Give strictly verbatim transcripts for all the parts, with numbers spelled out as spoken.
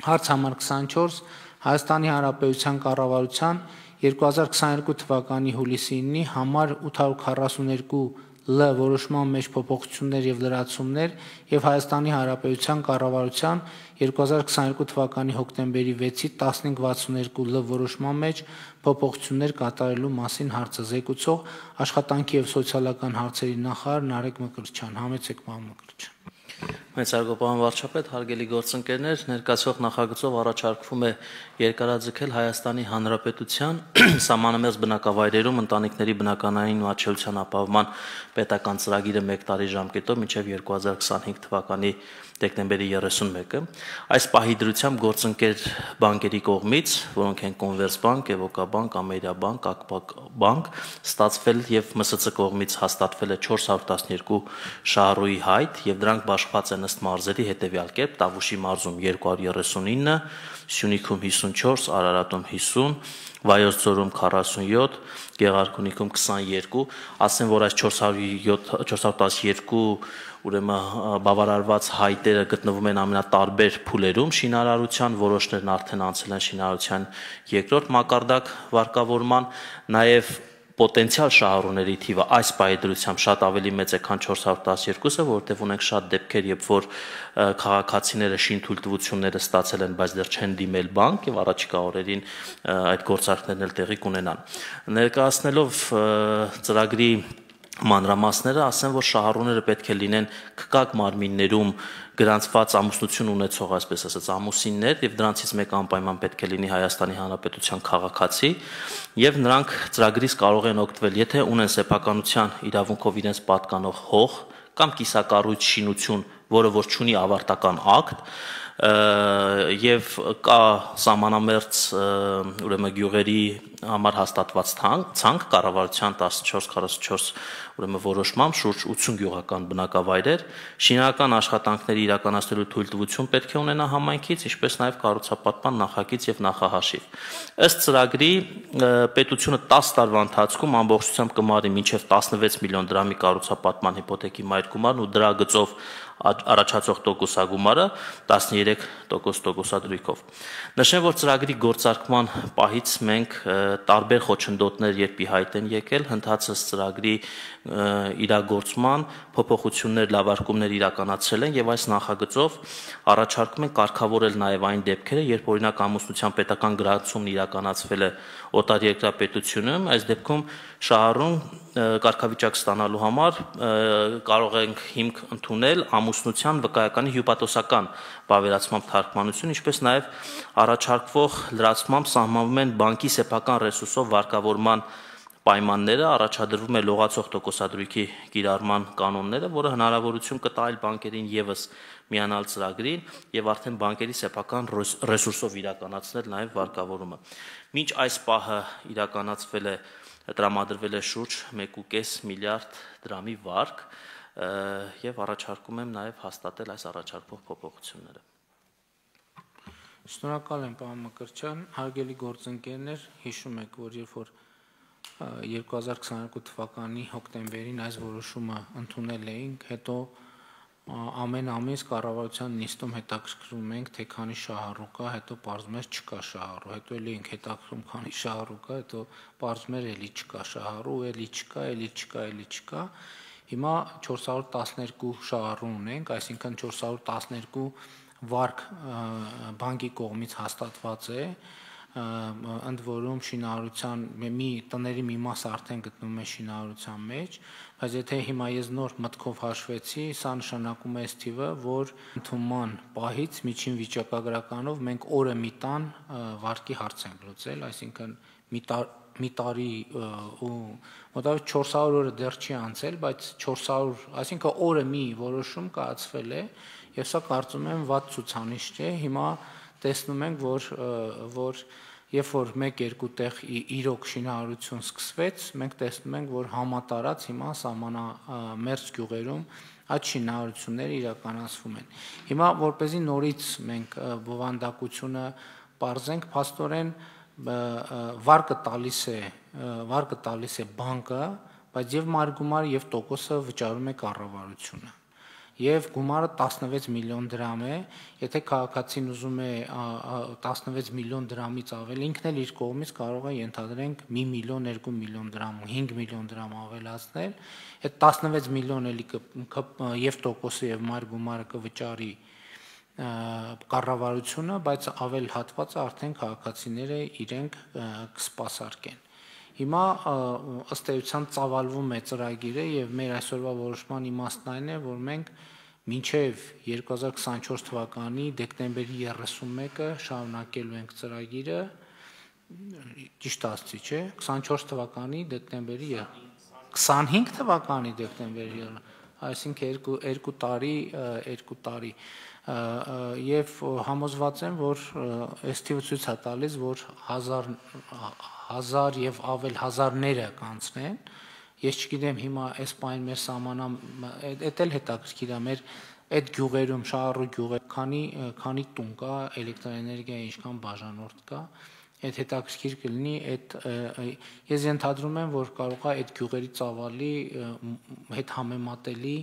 Հարց համար քսանչորս Հայաստանի Հանրապետության կառավարության երկու հազար քսաներկու թվականի հուլիսի իննի համար ութ հարյուր քառասուններկու L որոշման մեջ փոփոխություններ եւ լրացումներ եւ Հայաստանի Հանրապետության կառավարության երկու հազար քսաներկու թվականի հոկտեմբերի վեցի տասնհինգ վաթսուններկու L որոշման մեջ փոփոխություններ կատարելու մասին հարցը զեկուցող աշխատանքի եւ սոցիալական հարցերի նախարար Նարեկ Մկրտչյան։ Համեցեք, պարոն Մկրտչյան։ Մեծ հարգարժան վարչապետ, հարգելի գործընկերներ, ներկայացվող նախագծով առաջարկվում է երկարաձգել Հայաստանի Հանրապետության սահմանամերձ բնակավայրերում ընտանիքների բնականային մատչելիության ապահովման պետական ծրագիրը մեկ տարի ժամկետով մինչև երկու հազար քսանհինգ թվականի դեկտեմբերի երեսունմեկը։ Այս պահի դրությամբ գործընկեր բանկերի կողմից, որոնք են Կոնվերսբանկ, Էվոկաբանկ, Ամերիաբանկ, Ակբակ բանկ, ստացվել եւ Մսց կողմից հաստատվել է չորս հարյուր տասնյոթ շահառուի հայտ եւ դրանք բաշխված են ըստ մարզերի հետեւյալ կերպ՝ Տավուշի մարզում երկու հարյուր երեսունինը, Սյունիքում հիսունչորս, Արարատում հիսուն, Վայոց ձորում քառասունյոթ, Գեղարքունիքում քսանյոթ, ասեմ, որ այս չորս հարյուր տասնյոթ ուրեմն բավարարված հայտերը գտնվում են ամենատարբեր փուլերում շինարարության, որոշներն արդեն անցել են շինարարության երկրորդ մակարդակ վարկավորման, նաև պոտենցիալ շահառուների թիվը այս պայդրությամբ շատ ավելի մեծ է, քան չորս հարյուր տասնյոթը, որովհետև ունենք շատ դեպքեր, երբ որ քաղաքացիները շինթույլտվությունները ստացել են, բայց դեռ չեն դիմել բանկ եւ առաջիկա օրերին այդ գործարքներն էլ տեղի կունենան։ Ներկայացնելով ծրագրի մանրամասները, ասեմ, որ շահառուները պետք է լինեն քկակ մարմիններում գրանցված ամուսնություն ունեցող, այսպես ասած, ամուսիններ եւ դրանցից մեկը անպայման պետք է լինի Հայաստանի Հանրապետության քաղաքացի եւ նրանք ծրագրից կարող են օգտվել, եթե ունեն սեփականության իրավունքով իրենց պատկանող հող կամ կիսակառույց շինություն, որը որ չունի ավարտական ակտ եւ կա սահմանամերձ ուրեմն գյուղերի համար հաստատված ցանկ կառավարության տասնչորս քառասունչորս ուրեմն որոշմամբ շուրջ ութսուն գյուղական բնակավայրեր շինական աշխատանքների իրականացնելու թույլտվություն պետք է ունենա համայնքից, ինչպես նաեւ կառուցապատման նախագիծ եւ նախահաշիվ։ Ըստ ծրագրի պետությունը տասը տարվա ընթացքում ամբողջությամբ կմարի մինչեւ տասնվեց միլիոն դրամի կառուցապատման հիպոթեքի մայր գումարն ու դրա գծով առաջացող տոկոսագումարը տասներեք տոկոս տոկոսադրույքով։ Նշեմ, որ ծրագրի գործարկման պահից մենք տարբեր խոչընդոտներ երբ ի հայտ են եկել, հնդածս ծրագրի իրագործման փոփոխություններ, լավարկումներ իրականացրել են եւ այս նախագծով առաջարկում են կարգավորել նաեւ այն դեպքերը, երբ օրինակ ամուսնության պետական գրանցումն իրականացվել է օտարերկրյա պետությունում, այս դեպքում շահառուն կարգավիճակ ստանալու համար կարող ենք հիմք ընդունել ամուսնության վկայականի հյուպատոսական բավերացմամբ թարգմանություն, ինչպես նաև առաջարկվող լրացմամբ սահմանվում են բանկի սեփական ռեսուրսով վարկավորման պայմանները, առաջադրվում է լողացող տոկոսադրույքի կիրառման կանոնները, որը հնարավորություն կտա այլ բանկերին եւս միանալ ծրագրին եւ արդեն բանկերի սեփական ռեսուրսով իրականացնել նաեւ վարկավորումը։ Մինչ այս պահը իրականացվել է տրամադրվել է շուրջ մեկ ու կես միլիարդ դրամի վարկ եւ առաջարկում եմ նաեւ հաստատել այս առաջարկվող փոփոխությունները։ Շնորհակալ եմ, պարոն Մկրտչյան, հարգելի գործընկերներ, հիշում եք, որ երբ որ երկու հազար քսաներկու թվականի հոկտեմբերին այս որոշումը ընդունել էինք, հետո ամեն ամիս կառավարության նիստում հետաքրքրում ենք, թե քանի շահառու կա, հետո պարզվում է չկա շահառու, հետո էլի ենք հետաքրքրում քանի շահառու կա, հետո պարզվում է էլի չկա շահառու, էլի չկա, էլի չկա, էլի չկա։ Հիմա չորս հարյուր տասներկու շահառու ունենք, այսինքն չորս հարյուր տասներկու վարկ բանկի կողմից հաստատված է, ընդ որում շինարարության մի տների մի մաս արդեն գտնվում է շինարարության մեջ, բայց եթե հիմա ես նոր մտքով հաշվեցի, սա նշանակում է այս թիվը, որ ընդունման պահից միջին վիճակագրականով մենք օրը մի տան վարկի հարց ենք լուծել, այսինքն մի տար մի տարի ու մոտավորապես չորս հարյուր օրը դեռ չի անցել, բայց չորս հարյուր, այսինքն օրը մի որոշում կայացվել է, եւ սա կարծում եմ վատ ցուցանիշ չէ։ Հիմա տեսնում ենք, որ որ երբ որ մեկ-երկու տեղ իրոք շինարարություն սկսվեց, մենք տեսնում ենք, որ համատարած հիմա սահմանամերձ գյուղերում այդ շինարարությունները իրականացվում են։ Հիմա որպեսզի նորից մենք բովանդակությունը պարզենք, փաստորեն վարկը տալիս է վարկը տալիս է բանկը, բայց եւ մարգումարը եւ տոկոսը վճարում է կառավարությունը։ եւ գումարը տասնվեց միլիոն դրամ է, եթե քաղաքացին ուզում է տասնվեց միլիոն դրամից ավել, ինքն էլ իր կողմից կարող է ենթադրենք մի միլիոն, երկու միլիոն դրամ, հինգ միլիոն դրամ ավելացնել, այդ տասնվեց միլիոն էլի եւ տոկոսը եւ մայր գումարը կվճարի կառավարությունը, բայց ավել հատվածը արդեն քաղաքացիները իրենք կսպասարկեն։ Հիմա ըստ էության ծավալվում է ծրագիրը եւ մեր այսօրվա որոշման իմաստն այն է, որ մենք մինչեւ երկու հազար քսանչորս թվականի դեկտեմբերի երեսունմեկը շարունակելու ենք ծրագիրը, ճիշտ ասացի, չէ՞, քսանչորս թվականի դեկտեմբերի քսանհինգ թվականի դեկտեմբերի, այսինքն երկու երկու տարի, երկու տարի եւ համոզված եմ, որ այս թիվը ցույց է տալիս, որ հազար հազար եւ ավել հազարները կանցնեն։ Ես չգիտեմ հիմա այս պայն մեր սահմանամ, էդ էլ հետաքրքիր է, մեր այդ գյուղերում, շահառու գյուղեր, քանի քանի տուն կա, էլեկտրոէներգիայի ինչքան բաժանորդ կա, այդ հետաքրքիր կլինի, այդ ես ենթադրում եմ, որ կարող է այդ գյուղերի ծավալի հետ համեմատելի,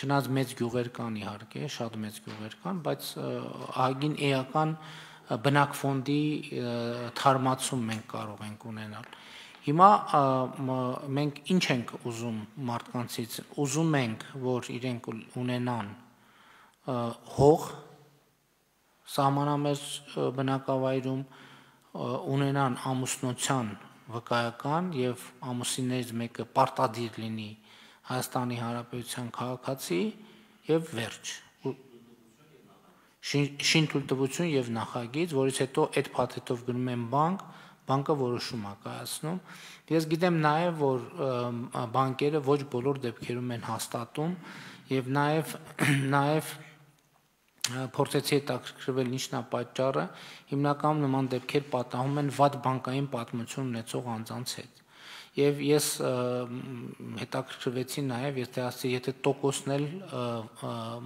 չնայած մեծ գյուղեր կան իհարկե, շատ մեծ գյուղեր կան, բայց ահագին էական բնակֆոնդի թարմացում մենք կարող ենք ունենալ։ Հիմա մենք ինչ ենք ուզում մարդկանցից, ուզում ենք, որ իրենք ունենան հող սահմանամերձ բնակավայրում, ունենան ամուսնության վկայական եւ ամուսիններից մեկը պարտադիր լինի Հայաստանի Հանրապետության քաղաքացի եւ վերջ։ Շինթույլտվություն եւ նախագիծ, որից հետո այդ փաթեթով գնում են բանկ, բանկը որոշում է կայացնում։ Ես գիտեմ նաեւ, որ բանկերը ոչ բոլոր դեպքերում են հաստատում եւ նաեւ նաեւ փորձեցի հետաքրքրվել ինչն է պատճառը, հիմնականում նման դեպքեր պատահում են վատ բանկային պատմություն ունեցող անձանց հետ։ Եվ ես հետաքրքրվեցի նաև, եթե ասի, եթե տոկոսն էլ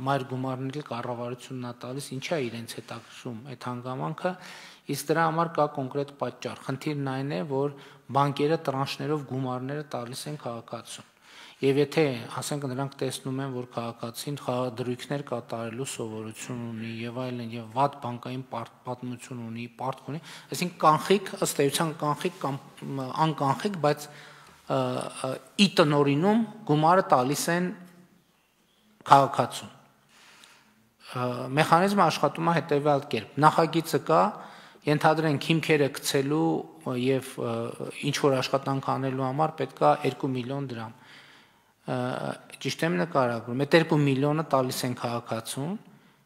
մայր գումարն էլ կառավարությունն է տալիս, ինչա է իրենց հետաքրքրում այդ հանգամանքը, իսկ դրա համար կա կոնկրետ պատճառ։ Խնդիրն այն է, որ բանկերը տրանշներով գումարները տալիս են քաղաքացուն։ Եվ եթե, ասենք, նրանք տեսնում են, որ քաղաքացին խաղադրույքներ կատարելու սովորություն ունի եւ այլն, եւ վատ բանկային պատմություն ունի, պարտք ունի, այսինքն կանխիկ, ըստ էության կանխիկ կամ անկանխիկ, բայց ի տնօրինում գումարը տալիս են քաղաքացուն։ Մեխանիզմը աշխատում է հետեւյալ կերպ. նախագիծը կա, ենթադրենք հիմքերը գցելու եւ ինչ որ աշխատանք անելու համար պետք է երկու միլիոն դրամ։ Ճիշտ եմ նկարագրում, այդ երկու միլիոնը տալիս են քաղաքացուն,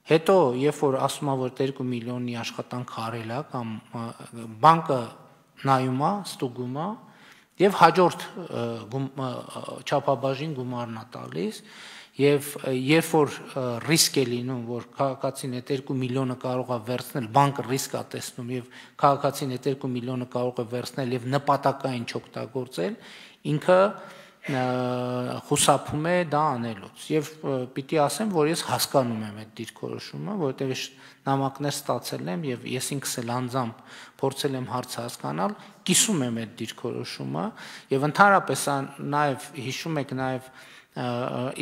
հետո երբ որ ասում է, որ երկու միլիոնի աշխատանք արել է կամ բանկը նայում է, ստուգում է եւ հաջորդ չափաբաժին գումարն է տալիս եւ երբ որ ռիսկ է լինում, որ քաղաքացին այդ երկու միլիոնը կարող է վերցնել, բանկը ռիսկ է տեսնում եւ քաղաքացին այդ երկու միլիոնը կարող է վերցնել եւ նպատակային չօգտագործել, ինքը խուսափում է դա անելուց եւ պիտի ասեմ, որ ես հասկանում եմ այդ դիրքորոշումը, որովհետեւ ես նամակներ ստացել եմ եւ ես ինքս էլ անձամբ փորձել եմ հարցը հասկանալ, կիսում եմ այդ դիրքորոշումը եւ ընդհանրապես նաեւ հիշում եք նաեւ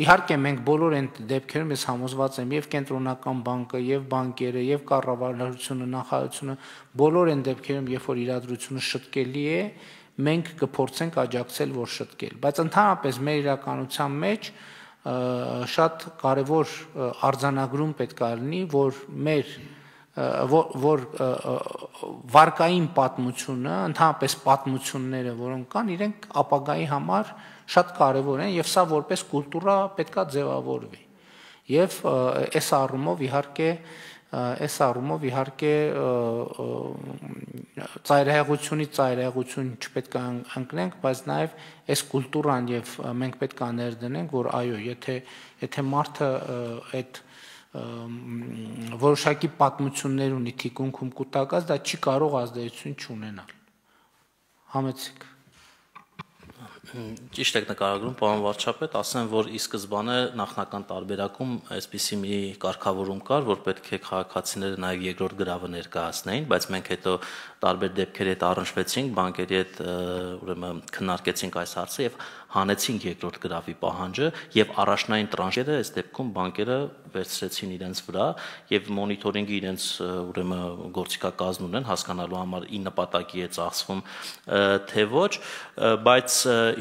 իհարկե մենք բոլոր այն դեպքերում ես համոզված եմ եւ կենտրոնական բանկը եւ բանկերը եւ կառավարությունը նախարարությունը բոլոր այն դեպքերում երբ որ իրադրությունը շտկելի է մենք կփորձենք աջակցել, որ շտկել, բայց ընդհանրապես մեր իրականության մեջ շատ կարևոր արձանագրում պետք է լինի, որ մեր որ, որ վարկային պատմությունը, ընդհանրապես պատմությունները, որոնք կան, իրենք ապագայի համար շատ կարևոր են եւ սա որպես կուլտուրա պետք է ձևավորվի։ Եվ այս առումով իհարկե այս առումով իհարկե ծայրահեղությունից ծայրահեղություն չպետք է ընկնենք, բայց նաև այս կուլտուրան եւ մենք պետք է ներդնենք, որ այո, եթե եթե մարդը այդ որոշակի պատմություններ ունի թիկունքում կուտակած, դա չի կարող ազդեցություն չունենալ։ Համեցիկ։ Ճիշտ եք նկարագրում, պարոն վարչապետ, ասեմ, որ ի սկզբանե նախնական տարբերակում այսպիսի մի կարգավորում կար, որ պետք է քաղաքացիները նաև երկրորդ գրավը ներկայացնեին, բայց մենք հետո տարբեր դեպքերի հետ առնչվեցինք, բանկերի հետ ուրեմն քննարկեցինք այս հարցը եւ հանեցին երկրորդ գրավի պահանջը եւ առաջնային տրանշերը այս դեպքում բանկերը վերցրեցին իրենց վրա եւ մոնիթորինգի իրենց ուրեմն գործիքակազմ ունեն հասկանալու համար ի նպատակի է ծախսվում թե ոչ, բայց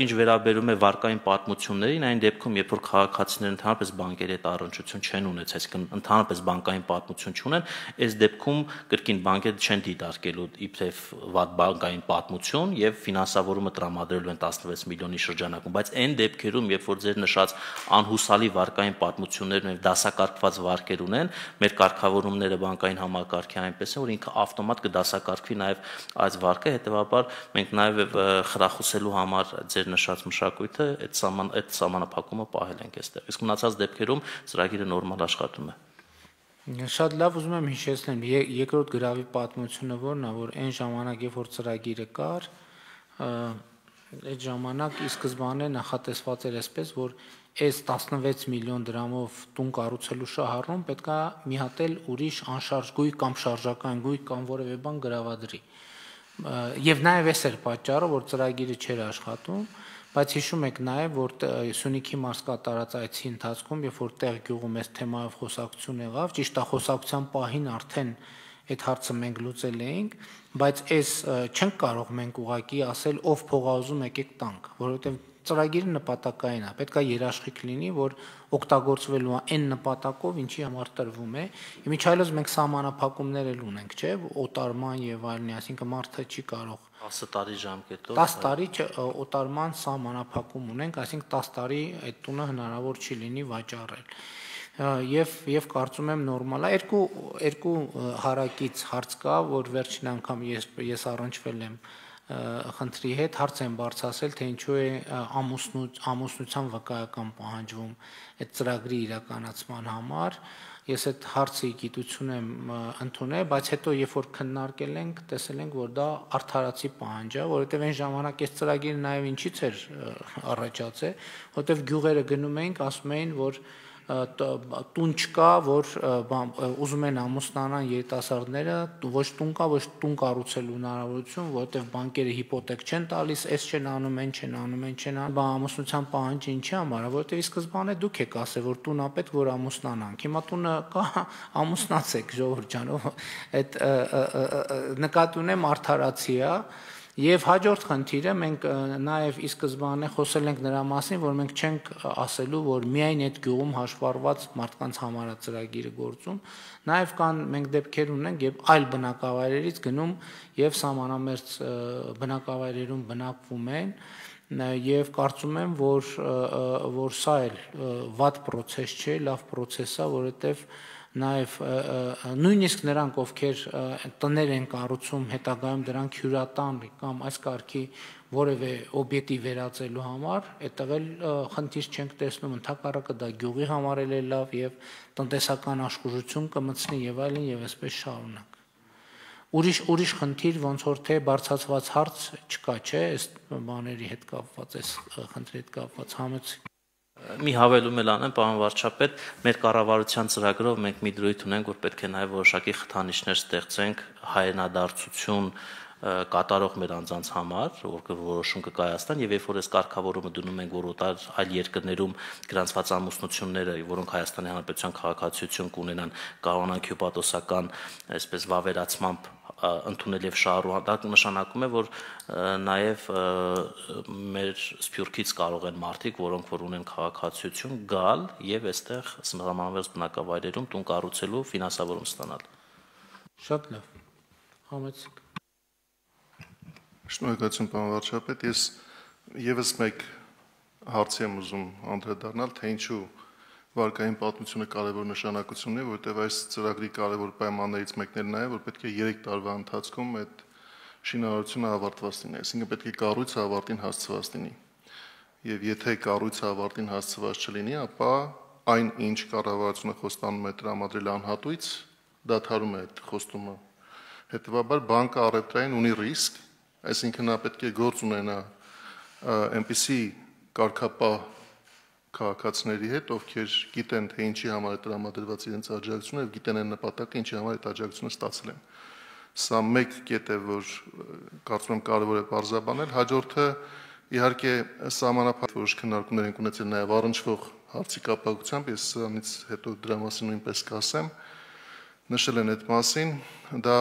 ինչ վերաբերում է վարկային պատմություններին, այն դեպքում երբ որ քաղաքացիները ընդհանրապես բանկերի հետ առնչություն չեն ունեցել, այսինքն ընդհանրապես բանկային պատմություն չունեն, այս դեպքում կրկին բանկերը չեն դիտարկելու իբրև վատ բանկային պատմություն եւ ֆինանսավորումը տրամադրելու են տասնվեց միլիոնի շրջանակում, բայց այն դեպքերում, երբ որ ձեր նշած անհուսալի վարկային պատմություններն եւ դասակարգված վարկեր ունեն, մեր կարգավորումները բանկային համակարգի այնպես է, որ ինքը ավտոմատ կդասակարգվի նաեւ այս վարկը, հետեւաբար մենք նաեւ խրախուսելու համար ձեր նշած մշակույթը այդ սահման այդ սահմանափակումը պահել ենք այստեղ։ Իսկ մնացած դեպքերում ծրագիրը նորմալ աշխատում է։ Շատ լավ, ուզում եմ հիշեցնել երկրորդ գրավի պատմությունը որն է, որ այն ժամանակ, երբ որ ծրագիրը կար, այդ ժամանակ ի սկզբանե նախատեսված էր այսպես, որ այս տասնվեց միլիոն դրամով տուն կառուցելու շահառուն պետք է մի հատ էլ ուրիշ անշարժ գույք կամ շարժական գույք կամ որևէ բան գրավադրի։ Եվ նաև այս էր պատճառը, որ ծրագիրը չէր աշխատում, բայց հիշում եք նաև, որ Սյունիքի մարզկա տարած այցի ընթացքում, երբ որ տեղ գյուղում այս թեմայով խոսակցություն եղավ, ճիշտ է խոսակցության պահին արդեն այդ հարցը մենք լուծել էինք, բայց այս չենք կարող մենք ուղղակի ասել ով փող ուզում եկեք տանք, որովհետև ծրագիրը նպատակային է, պետք է երաշխիք լինի, որ օգտագործվելու է այն նպատակով, ինչի համար տրվում է։ Իմիջիայլոց մենք սահմանափակումներ էլ ունենք, չէ՞, օտարման եւ այլն, այսինքն մարդը չի կարող տասը տարի ժամկետով տասը տարի օտարման սահմանափակում ունենք, այսինքն տասը տարի այդ տունը հնարավոր չի լինի վաճառել։ Եվ եւ կարծում եմ նորմալ է, երկու երկու հարակից հարց կա, որ վերջին անգամ ես ես առնչվել եմ խնդրի հետ, հարց եմ բարձրացել, թե ինչու է ամուսնության վկայական պահանջվում այդ ծրագրի իրականացման համար։ Ես այդ հարցի գիտություն եմ ընդունել, բայց հետո երբ որ քննարկել ենք, տեսել ենք, որ դա արդարացի պահանջ է, որովհետև այն ժամանակ այս ծրագիրը նաև ինչից էր առաջացել, որովհետև գյուղերը գնում էինք, ասում էին, որ տուն չկա, որ ուզում են ամուսնանան երիտասարդները, ոչ տուն կա, ոչ տուն կառուցելու հնարավորություն, որովհետև բանկերը հիպոթեք չեն տալիս, այս չեն անում, այն չեն անում, այն չեն անում, բա ամուսնության պահանջը ինչի համար է, որովհետև ի սկզբանե դուք եք ասել, որ տունը պետք որ ամուսնանանք։ Հիմա տունը կա, ամուսնացեք, ժողովուրդ ջան, այդ նկատի ունեմ արդարացի է։ Եվ հաջորդ խնդիրը մենք նաև ի սկզբանե խոսել ենք նրա մասին, որ մենք չենք ասելու, որ միայն այդ գյուղում հաշվառված մարդկանց համար է ծրագիրը գործում, նաև կան մենք դեպքեր ունենք, երբ այլ բնակավայրերից գնում եւ սահմանամերձ բնակավայրերում բնակվում են, եւ կարծում եմ, որ որ սա էլ վատ process չէ, լավ process է, որովհետեւ նաև նույնիսկ նրանք, ովքեր տներ են կառուցում, հետագայում դրանք հյուրատան կամ այս կարգի որևէ օբյեկտի վերածելու համար, այդտեղ էլ խնդիր չենք տեսնում, ընդհակառակը դա գյուղի համար էլ է լավ եւ տնտեսական աշխուժություն կմտցնի եւ այլն եւ այսպես շարունակ։ Ուրիշ ուրիշ խնդիր ոնց որ թե բարձրացված հարց չկա, չէ, այս բաների հետ կապված, այս խնդրի հետ կապված համեցի։ Մի հավելում էլ անեմ, պարոն վարչապետ, մեր կառավարության ծրագրով մենք մի դրույթ ունենք, որ պետք է նաև որոշակի խթանիչներ ստեղծենք հայրենադարձություն կատարող մեր անձանց համար, որ որոշում կկայացնեն, եւ երբ որ այս կարգավորումը դնում ենք, որ օտար այլ երկրներում գրանցված ամուսնությունները, որոնք Հայաստանի Հանրապետության քաղաքացիություն կունենան, կարողանան հյուպատոսական, այսպես վավերացմամբ ընդունել եւ շահառու, դա նշանակում է, որ նաեւ մեր սփյուռքից կարող են մարդիկ, որոնք որ ունեն քաղաքացիություն, գալ եւ այստեղ սահմանամերձ բնակավայրերում տուն կառուցելու ֆինանսավորում ստանալ։ Շատ լավ։ Համեցեք։ Շնորհակալություն, պարոն վարչապետ, ես եւս մեկ հարցի եմ ուզում անդրադառնալ, թե ինչու վարկային պատմությունը կարևոր նշանակություն ունի, որովհետև այս ծրագրի կարևոր պայմաններից մեկն էլ նա է, որ պետք է երեք տարվա ընթացքում այդ շինարարությունը ավարտված լինի, այսինքն պետք է կառույցը ավարտին հասցված լինի։ Եվ եթե կառույցը ավարտին հասցված չլինի, ապա այն ինչ կառավարությունը խոստանում է տրամադրել անհատույց, դադարում է այդ խոստումը։ Հետևաբար բանկը առևտրային ունի ռիսկ, այսինքն նա պետք է գործ ունենա այնպիսի կարգապահ քաղաքացիների հետ, ովքեր գիտեն, թե ինչի համար է տրամադրված իրենց աջակցությունը եւ գիտեն այն նպատակը, ինչի համար այդ աջակցությունը ստացել են։ Սա մեկ կետ է, որ կարծում եմ կարևոր է բարձրաբանել։ Հաջորդը Իհարկե սահմանափակ որոշ քննարկումներ ենք ունեցել նաև առնչվող հարցի կապակցությամբ, ես սրանից հետո դրա մասին նույնպես կասեմ, նշել են այդ մասին, դա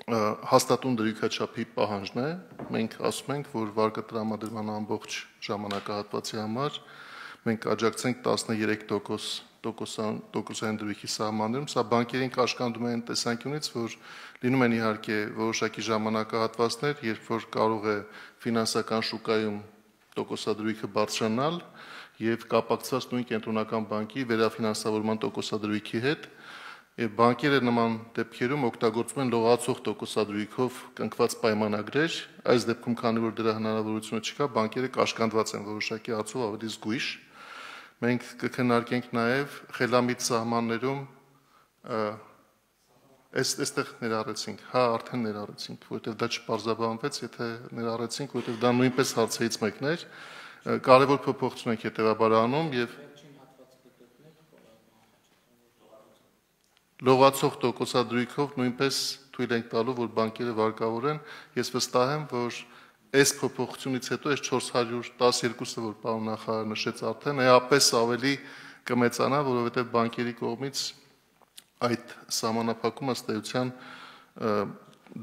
հաստատուն դրույքաչափի պահանջն է, մենք ասում ենք, որ վարկը տրամադրման ամբողջ ժամանակահատվածի համար մենք աջակցենք տասներեք տոկոսային դրույքի սահմաններում, սա բանկերին կաշկանդում է այն տեսանկյունից, որ լինում են իհարկե որոշակի ժամանակահատվածներ, երբ որ կարող է ֆինանսական շուկայում տոկոսադրույքը բարձրանալ եւ կապակցված նույն կենտրոնական բանկի վերաֆինանսավորման տոկոսադրույքի հետ, եւ բանկերը նման դեպքերում օգտագործում են լողացող տոկոսադրույքով կնքված պայմանագրեր, այս դեպքում քանի որ դրա հնարավորությունը չկա, բանկերը կաշկանդված են որոշակի հարցով ավելի զգույշ։ Մենք կքննարկենք նաև խելամիտ սահմաններում այստեղ ներառեցինք, հա արդեն ներառեցինք, որովհետև դա չպարզաբանվեց, եթե ներառեցինք, որովհետև դա նույնպես հարցերից մեկն էր, կարևոր փոփոխություն ենք հետևաբար անում եւ լողացող տոկոսադրույքով նույնպես թույլ ենք տալու, որ բանկերը վարկավորեն, ես վստահ եմ, որ այս փոփոխությունից հետո այս չորս հարյուր տասներկուսը, որ պարոն նախարարը նշեց արդեն, էապես ավելի կմեծանա, որովհետև բանկերի կողմից այդ սահմանափակումը ըստ էության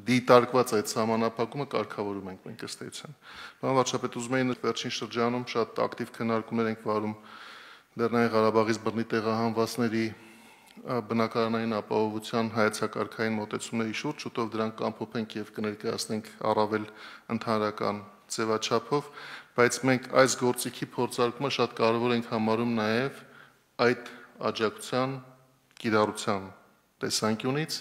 դիտարկված այդ սահմանափակումը կարգավորում ենք մենք ըստ էության։ Պարոն վարչապետ, ուզում եի վերջին շրջանում շատ ակտիվ քննարկումներ ենք վարում Լեռնային Ղարաբաղից բռնի տեղահանվածների բնակարանային ապահովության հայեցակարգային մոտեցումների շուրջ, շուտով դրանք կամփոփենք եւ կներկայացնենք առավել ընդհանրական ձևաչափով, բայց մենք այս գործիքի փորձարկումը շատ կարեւոր ենք համարում նաեւ այդ աջակցության կիրառության տեսանկյունից,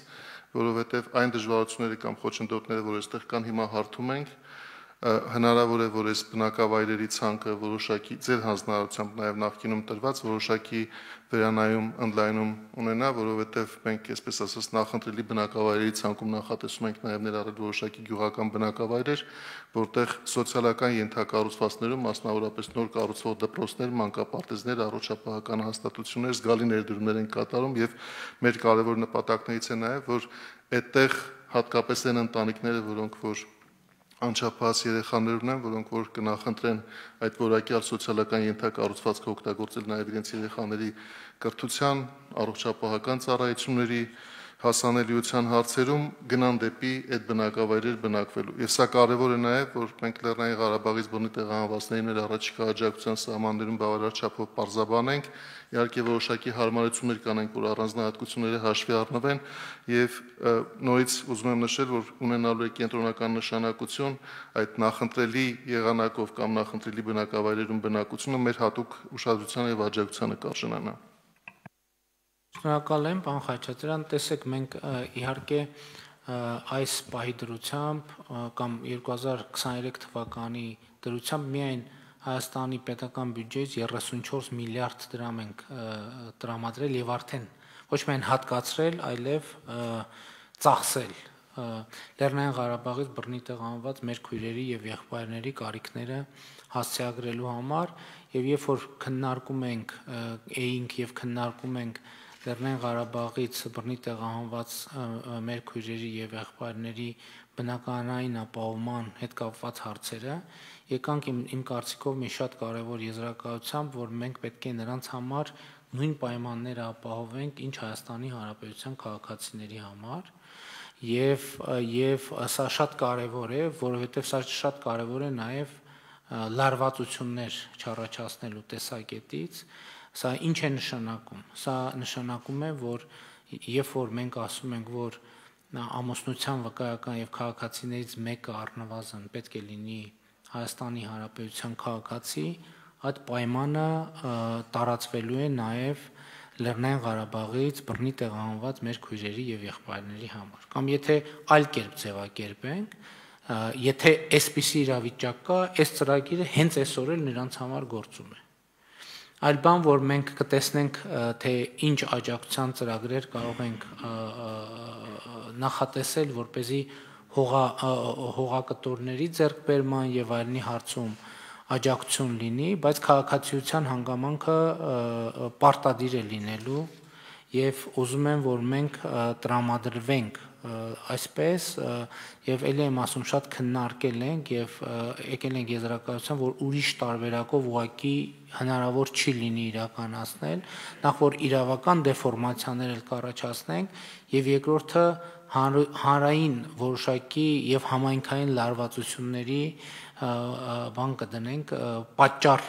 որովհետեւ այն դժվարությունները կամ խոչընդոտները, որ այստեղ կան, հիմա հարթում ենք, հնարավոր է, որ այս բնակավայրերի ցանկը որոշակի ձեր հանձնարարությամբ նաև նախկինում տրված որոշակի վերանայում, ընդլայնում ունենա, որովհետև մենք, այսպես ասած, նախընտրելի բնակավայրերի ցանկում նախատեսում ենք նաև ներառել որոշակի գյուղական բնակավայրեր, որտեղ սոցիալական ենթակառուցվածքներում, մասնավորապես նոր կառուցվող դպրոցներ, մանկապարտեզներ, առողջապահական հաստատություններ զգալի ներդրումներ են կատարում եւ մեր կարևոր նպատակներից է նաև, որ այդտեղ հատկապես այն ընտանիքները, որոնք որ անչափահաս երեխաներ ունեն, որոնք որ կնախընտրեն այդ որակյալ սոցիալական ենթակառուցվածքը օգտագործել նաև իրենց երեխաների կրթության, առողջապահական ծառայությունների հասանելիության հարցերում գնան դեպի այդ բնակավայրեր բնակվելու։ Եվ սա կարևոր է նաև, որ մենք Լեռնային Ղարաբաղից բռնի տեղահանվածներին մեր առաջիկա աջակցության սահմաններում բավարար չափով պարզաբանենք, իհարկե որոշակի հարմարություններ կանենք, որ առանձնահատկությունները հաշվի առնվեն եւ նորից ուզում եմ նշել, որ ունենալու է կենտրոնական նշանակություն այդ նախընտրելի եղանակով կամ նախընտրելի բնակավայրերում բնակությունը մեր հատուկ ուշադրության եւ աջակցությանը կարժանանա։ Շնորհակալ եմ, պարոն Խաչատրյան, տեսեք, մենք իհարկե այս պահի դրությամբ կամ երկու հազար քսաներեք թվականի դրությամբ միայն Հայաստանի պետական բյուջեից երեսունչորս միլիարդ դրամ ենք տրամադրել եւ արդեն ոչ միայն հատկացրել, այլև ծախսել Լեռնային Ղարաբաղից բռնի տեղահանված մեր քույրերի եւ եղբայրների կարիքները հասցեագրելու համար եւ երբ որ քննարկում ենք էինք եւ քննարկում ենք Լեռնային Ղարաբաղից բռնի տեղահանված մեր քույրերի եւ եղբայրների բնակարանային ապահովման հետ կապված հարցերը եկանք իմ, իմ կարծիքով մի շատ կարևոր եզրակացությամբ, որ մենք պետք է նրանց համար նույն պայմանները ապահովենք, ինչ Հայաստանի Հանրապետության քաղաքացիների համար եւ եւ սա շատ կարևոր է, որովհետեւ սա շատ կարևոր է նաեւ լարվածություններ չառաջացնելու տեսակետից։ Սա ինչ է նշանակում։ Սա նշանակում է, որ երբ որ մենք ասում ենք, որ ամուսնության վկայական եւ քաղաքացիներից մեկը առնվազն պետք է լինի Հայաստանի Հանրապետության քաղաքացի, այդ պայմանը տարածվելու է նաեւ Լեռնային Ղարաբաղից բռնի տեղահանված մեր քույրերի եւ եղբայրների համար։ Կամ եթե այլ կերպ ձևակերպենք, եթե այսպիսի իրավիճակ կա, այս ծրագիրը հենց այսօր էլ նրանց համար գործում է։ Այլ բան, որ մենք կտեսնենք, թե ինչ աջակցության ծրագրեր կարող ենք նախատեսել, որպեսզի հողա, հողակտորների ձեռքբերման եւ այլնի հարցում աջակցություն լինի, բայց քաղաքացիության հանգամանքը պարտադիր է լինելու եւ ուզում եմ, որ մենք տրամադրվենք այսպես եւ ելի եմ ասում շատ քննարկել ենք եւ եկել ենք եզրակացության, որ ուրիշ տարբերակով ուղղակի հնարավոր չի լինի իրականացնել, նախ որ իրավական դեֆորմացիաներ էլ կառաջացնենք եւ երկրորդը հանրային որոշակի եւ համայնքային լարվածությունների բան կդնենք, պատճառ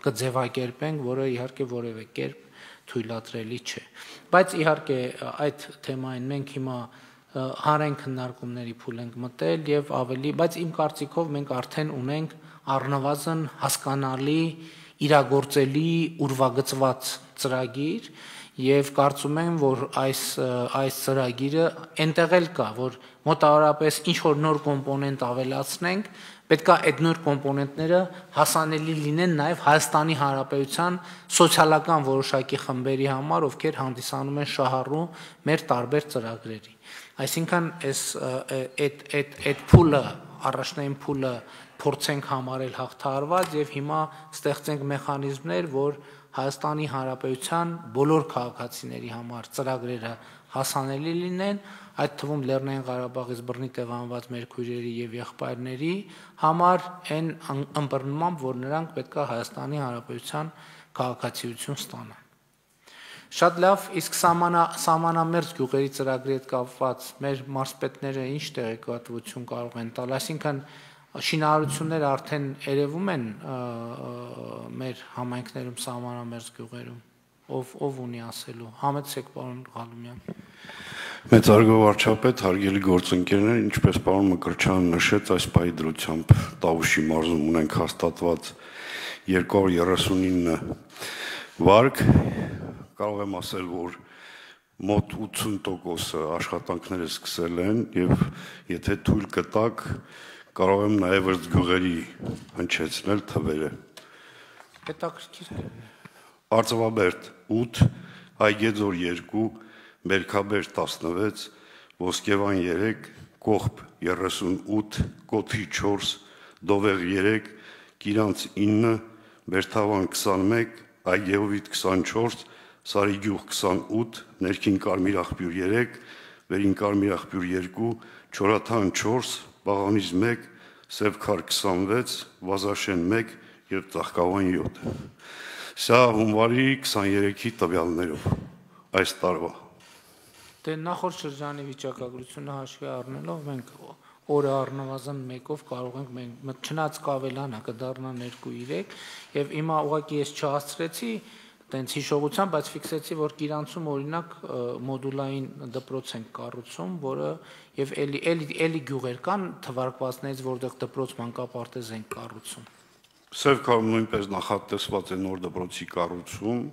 կձևակերպենք, որը իհարկե որևէ կերպ թույլատրելի չէ։ Բայց իհարկե այդ թեմային մենք հիմա հանրային քննարկումների փուլ ենք մտել եւ ավելի, բայց իմ կարծիքով մենք արդեն ունենք առնվազն հասկանալի, իրագործելի, ուրվագծված ծրագիր եւ կարծում եմ, որ այս այս ծրագիրը այնտեղ էլ կա, որ մոտավորապես ինչ որ նոր կոմպոնենտ ավելացնենք, պետք է այդ նոր կոմպոնենտները հասանելի լինեն նաև Հայաստանի Հանրապետության սոցիալական որոշակի խմբերի համար, ովքեր հանդիսանում են շահառու մեր տարբեր ծրագրերի։ Այսինքն այս այդ այդ այդ փուլը, առաջնային փուլը փորձենք համարել հաղթահարված եւ հիմա ստեղծենք մեխանիզմներ, որ Հայաստանի Հանրապետության բոլոր քաղաքացիների համար ծրագրերը հասանելի լինեն, այդ թվում Լեռնային Ղարաբաղից բռնի տեղանված մեր քույրերի եւ եղբայրների համար այն ըմբռնմամբ, որ նրանք պետք է Հայաստանի Հանրապետության քաղաքացիություն ստանան։ Շատ լավ, իսկ սահմանամերձ գյուղերի ծրագրի հետ կապված մեր մարզպետները ինչ տեղեկատվություն կարող են տալ, այսինքն շինարարությունները արդեն երևում են մեր համայնքներում սահմանամերձ գյուղերում, ով ով ունի ասելու, համեցեք պարոն Ղալումյան։ Մեծարգո վարչապետ, հարգելի գործընկերներ, ինչպես պարոն Մկրտչյանը նշեց, այս պահի դրությամբ Տավուշի մարզում ունենք հաստատված երկու հարյուր երեսունինը վարկ, կարող եմ ասել, որ մոտ ութսուն տոկոսը աշխատանքները սկսել են եւ եթե թույլ կտակ, կարող եմ նաեւ ըստ գյուղերի հնչեցնել թվերը։ Հետաքրքիր է։ Արծվաբերդ ութ, Այգեձոր երկու, Մերքաբերդ տասնվեց, Ոսկեվան երեք, Կողբ երեսունութ, Կոթի չորս, Դովեղ երեք, Կիրանց ինը, Բերթավան քսանմեկ, Այգեովիտ քսանչորս, Սարիգյուղ քսանութ, Ներքին Կարմիր աղբյուր երեք, Վերին Կարմիր աղբյուր երկու, Չորաթան չորս, Բաղանիզ մեկ, Սևքար քսանվեց, Վազաշեն մեկ եւ Ծաղկավան յոթ։ Սա հունվարի քսաներեքի տվյալներով այս տարվա։ Դե նախորդ շրջանի վիճակագրությունը հաշվի առնելով մենք օրը առնվազն մեկով կարող ենք մենք չնայած կավելանա կդառնա երկու երեք եւ հիմա ուղղակի ես չհասցրեցի տենց հիշողությամբ, բայց ֆիքսեցի, որ Կիրանցում օրինակ մոդուլային դպրոց են կառուցում, որը եւ էլի էլի էլի գյուղեր կան թվարկվածներից, որտեղ դպրոց մանկապարտեզ են կառուցում։ Սևքարում նույնպես նախատեսված է նոր դպրոցի կառուցում,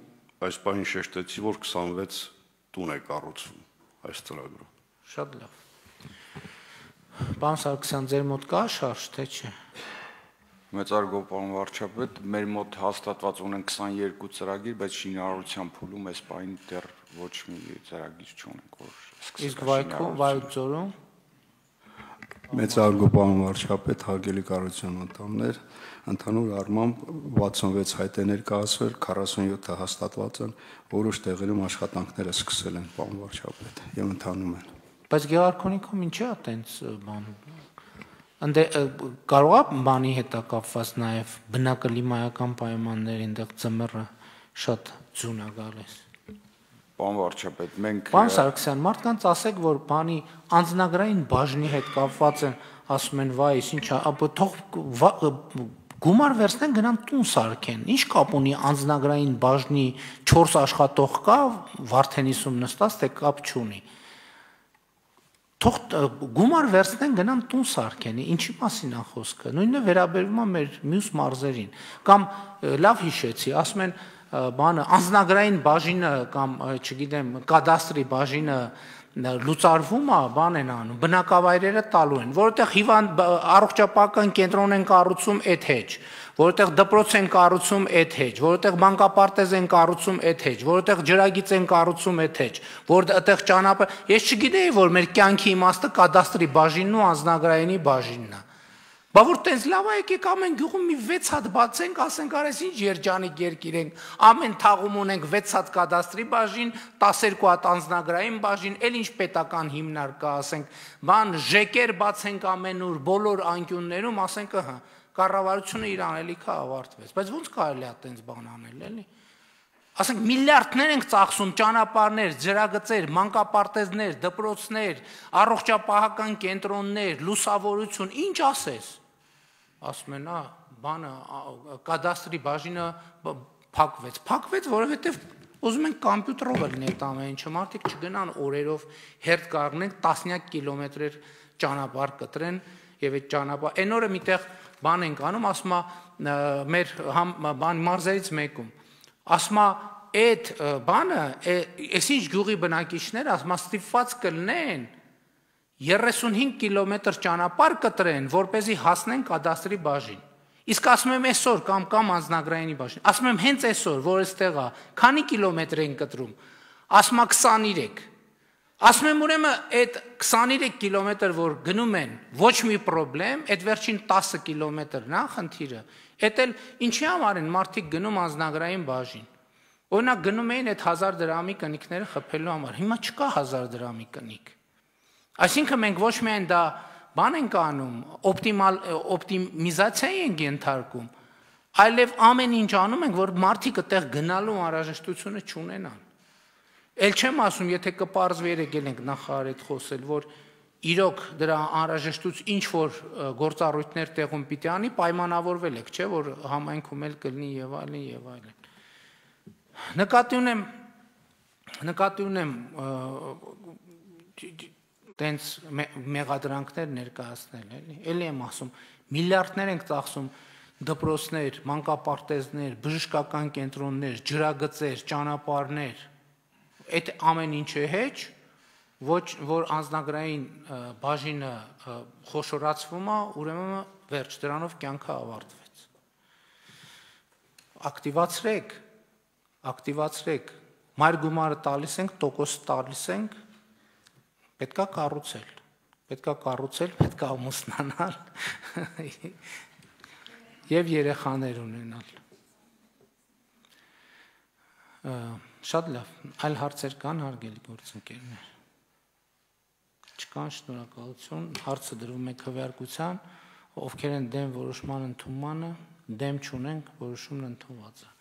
այս բանին շեշտեցի, որ քսանվեց տուն է կառուցվում այս ծրագրով։ Շատ լավ։ Պարոն Սարգսյան, ձեր մոտ կա շարժ, թե չէ։ Մեծարգո պարոն վարչապետ, մեր մոտ հաստատված ունեն քսաներկու ծրագիր, բայց շինարարության փուլում այս պահին դեռ ոչ մի ծրագիր չունենք, որ սկսել։ Իսկ Վայքում, Վայոց-Ձորում Մեծարգո պարոն վարչապետ, հարգելի կառավարության անդամներ, ընդհանուր առմամբ վաթսունվեց հայտ է ներկայացվել, քառասունյոթը հաստատված են, որոշ տեղերում աշխատանքները սկսել են, պարոն վարչապետ, եւ ընթանում են։ Բայց Գեղարքունիքում ինչի՞ է տենց բան։ Ընդ կարող է բանի հետ կապված նաև բնակլիմայական պայմաններ, այնտեղ ծմերը շատ ձուն է գալիս։ Պարոն վարչապետ, մենք Պարոն Սարգսյան, մարդկանց ասեք, որ բանի անձնագրային բաժնի հետ կապված են, ասում են, վայ, ինչ է, ապա թող գումար վերցնեն գնան տուն սարքեն։ Ինչ կապ ունի անձնագրային բաժնի չորս աշխատող կա Վարդենիսում նստած, թե կապ չունի։ Թող գումար վերցնեն գնան տուն սարքեն, ինչի մասին է խոսքը։ Նույնը վերաբերվում է մեր մյուս մարզերին։ Կամ լավ հիշեցի, ասում են բանը անձնագրային բաժինը կամ չգիտեմ կադաստրի բաժինը լուծարվում է, բան են անում, բնակավայրերը տալու են, որովհետև հիվանդ առողջապահական կենտրոն են կառուցում այդ հեչ, որովհետև դպրոց են կառուցում այդ հեչ, որովհետև մանկապարտեզ են կառուցում այդ հեչ, որովհետև ջրագիծ են կառուցում այդ հեչ, որտեղ ճանապարհ, ես չգիտեի, որ մեր կյանքի իմաստը կադաստրի բաժինն ու անձնագրայինի բաժինն է։ Բա որ տենց լավ է, եկեք ամեն գյուղում մի վեց հատ բացենք, ասենք արես ինչ երջանիկ երկիր ենք, ամեն թաղում ունենք վեց հատ կադաստրի բաժին, տասներկու հատ անձնագրային բաժին, էլ ինչ պետական հիմնարկա, ասենք, բան ժեկեր բացենք ամենուր, բոլոր անկյուններում, ասենք, ըհը, կառավարությունը իր անելիքը ավարտվեց, բայց ո՞նց կարելի է տենց բան անել, էլի։ Ասենք միլիարդներ ենք ծախսում ճանապարհներ, ջրագծեր, մանկապարտեզներ, դպրոցներ, առողջապահական կենտրոններ, լուսավորություն, ինչ ասես։ Ասում են, բանը կադաստրի բաժինը փակվեց, փակվեց, որովհետև ուզում են կոմպյուտերով լինի այդ ամեն ինչը, մարդիկ չգնան օրերով հերթ կանգնեն տասնյակ կիլոմետրեր ճանապարհ կտրեն եւ այդ ճանապարհ այն օրը միտեղ բան ենք անում, ասում է մեր բան մարզերից մեկում, ասում է այդ բանը, այսինչ գյուղի բնակիչները ասում է ստիպված կլինեն երեսունհինգ կիլոմետր ճանապարհ կտրեն, որպեսզի հասնեն կադաստրի բաժին։ Իսկ ասում եմ այսօր կամ կամ անձնագրայինի բաժին, ասում եմ հենց այսօր, որ այստեղ է, քանի կիլոմետր են կտրում, ասում է քսաներեք։ Ասում եմ ուրեմն այդ քսաներեք կիլոմետր, որ գնում են, ոչ մի խնդրեմ, այդ վերջին տասը կիլոմետրն է խնդիրը, այդ էլ ինչի համար են մարդիկ գնում անձնագրային բաժին։ Օրինակ գնում էին այդ հազար դրամի կնիկները խփելու համար, հիմա չկա հազար դրամի կնիկ։ Այսինքն մենք ոչ միայն դա բան ենք անում, օպտիմալ օպտիմիզացիա ենք ենթարկում, այլև ամեն ինչ անում ենք, որ մարդիկ այդտեղ գնալու անհրաժեշտությունը չունենան։ Էլ չեմ ասում, եթե կպարզվի եկել ենք նախարար հետ խոսել, որ իրոք դրա անհրաժեշտություն ինչ որ գործառույթներ տեղում պիտի անի, պայմանավորվել եք, չէ՞ որ համայնքում էլ կլինի եւ այլն եւ այլն։ Նկատի ունեմ, նկատի ունեմ տենց մեղադրանքներ ներկայացնել, էլի, էլի եմ ասում, միլիարդներ ենք ծախսում դպրոցներ, մանկապարտեզներ, բժշկական կենտրոններ, ջրագծեր, ճանապարհներ, այդ ամեն ինչը հեչ, ոչ որ անձնագրային բաժինը խոշորացվում է, ուրեմն վերջ դրանով կյանքը ավարտվեց։ Ակտիվացրեք, ակտիվացրեք, մայր գումարը տալիս ենք, տոկոս տալիս ենք, պետքա կառուցել, պետքա կառուցել, պետքա ամուսնանալ եւ երեխաներ ունենալ։ Շատ լավ, այլ հարցեր կան, հարգելի գործընկերներ։ Չկան, շնորհակալություն, հարցը դրվում է քվեարկության, ովքեր են դեմ որոշման ընդունմանը, դեմ չունենք, որոշումն ընդունված է։